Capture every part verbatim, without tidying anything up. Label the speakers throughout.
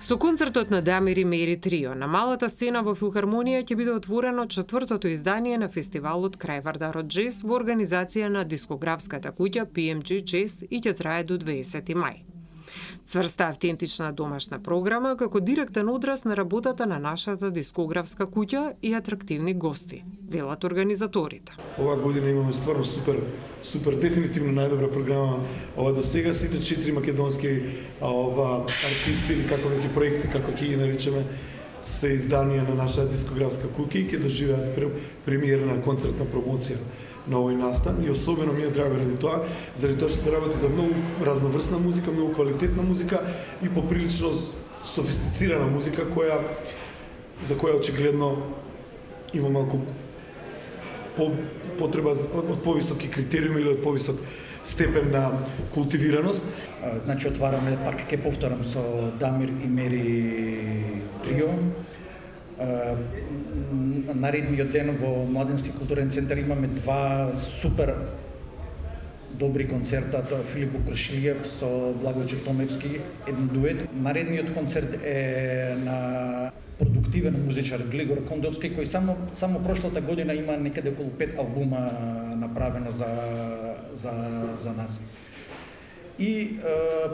Speaker 1: Со концертот на Дамир и Мери Трио на малата сцена во Филхармонија ќе биде отворено четвртото издание на фестивалот Крај Вардарот Джез во организација на дискографската куќа Пи Ем Џи Джез и ќе трае до дваесети мај. Цврста автентична домашна програма како директен одраз на работата на нашата дискографска куќа и атрактивни гости, велат организаторите.
Speaker 2: Ова година имаме стварно супер, супер дефинитивно најдобра програма. Ова до сега сите четири македонски а, ова артисти или како неки проекти, како ќе ги наричаме, се изданија на нашата дискографска куќа и ќе доживеат премиерна концертна промоција на овој настан и особено ми е драго ради тоа, заради тоа што се работи за многу разноврсна музика, многу квалитетна музика и поприлично софистицирана музика која за која очигледно има малку по, потреба од повисоки критериуми или од повисок степен на култивираност.
Speaker 3: Значи отвараме, пак ќе повторам, со Дамир и Мери Трио. Наредниот ден во Младенски културен центар имаме два супер добри концерта, тоа Филип Укршилиев со Благој Чертомевски, еден дует. Наредниот концерт е на продуктивен музичар Глигор Кондовски, кој само само прошлата година има некаде околу пет албума направено за за за нас. И е,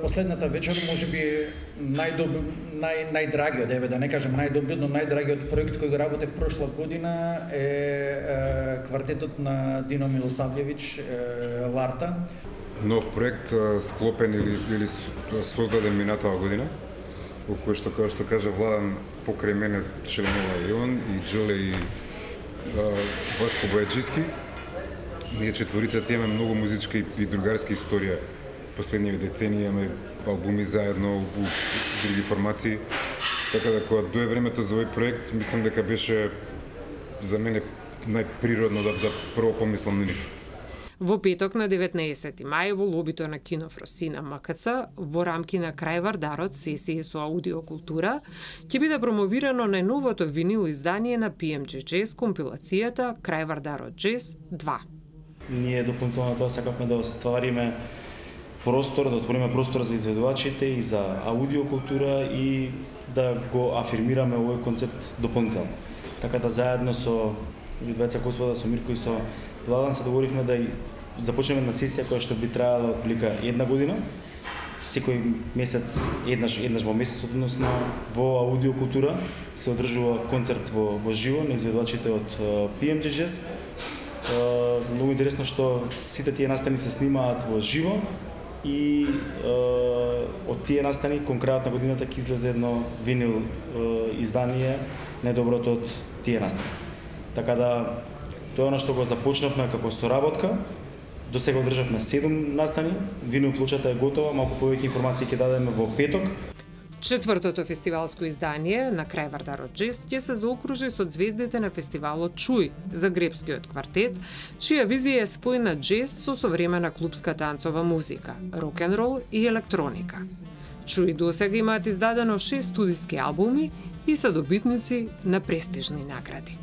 Speaker 3: последната вечер можеби најдобри, нај најдрагиот, еве да не кажам најдобриот, но најдрагиот проект кој го работев прошла година е, е квартетот на Дино Милосављевиќ, е, Ларта.
Speaker 4: Нов проект склопен или или создаден минатава година, во кој што како што кажа Владан, покрај мене членува и он, и Џоле и Васко Бојаджиски. Ние четворицата имаме многу музичка и другарска историја. Последниве децении имаме албуми заедно у други формации. Така да кога дое времето за овој проект, мислам дека беше за мене најприродно да, да прво помислам на нив.
Speaker 1: Во петок на деветнаесети мај во лобито на Кино Фросина М К Ц во рамки на Крај Вардарот сесија со аудиокултура ќе биде промовирано најновото винил издание на Пи Ем Џи Джез компилацијата Крај Вардарот Джез два.
Speaker 5: Ние дополнително тоа сакавме да оствариме простор, да отвориме простор за изведувачите и за аудиокултура и да го афирмираме овој концепт дополнително. Така да заедно со двајца господа, со Мирко и со Владан се договоривме да започнеме една сесија која што би траела отприлика една година. Секој месец, еднаш, еднаш во месец, односно во аудиокултура се одржува концерт во, во живо на изведувачите од Пи Ем Џи Джез. Многу интересно што сите тие настани се снимаат во живо и е, од тие настани кон крајот на годината ќе излезе едно винил е, издание најдоброто од тие настани. Така да тоа е она што го започнавме како соработка. До сега одржавме седум настани, винил плочата е готова, малку повеќе информации ќе дадеме во петок.
Speaker 1: Четвртото фестивалско издание на Крај Вардарот Джез ќе се заокружи со звездите на фестивалот Чуј, загребскиот квартет, чија визија е спој на джез со современа клупска танцова музика, рок-н-рол и електроника. Чуј досега имаат издадено шест студиски албуми и се добитници на престижни награди.